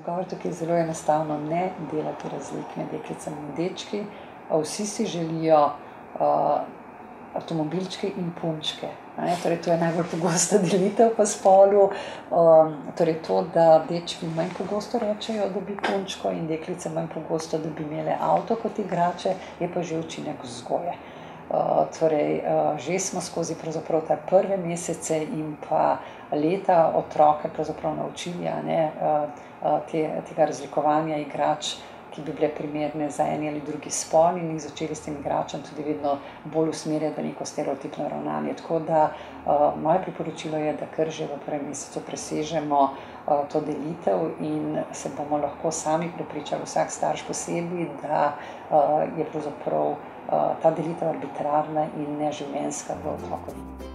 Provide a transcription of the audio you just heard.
Odgovor tukaj je zelo enostavno, ne delati razlik med deklicami in dečki. Vsi si želijo avtomobilčke in punčke. Torej, to je najbolj pogosta delitev po spolu. Torej to, da dečki manj pogosto rečejo, da bi punčko, in deklice manj pogosto, da bi imele avto kot igrače, je pa že učinek vzgoje. Torej, že smo skozi pravzaprav te prve mesece in pa leta otroke pravzaprav naučili, tega razlikovanja igrač, ki bi bile primerne za eni ali drugi spol, in jih začeli s tem igračem tudi vedno bolj usmerjati v neko stereotipno ravnanje. Tako da moje priporočilo je, da kar že v prvem mesecu presežemo to delitev in se bomo lahko sami prepričali, vsak starš posebej, da je pravzaprav ta delitev arbitrarna in neživljenjska v otrokovi.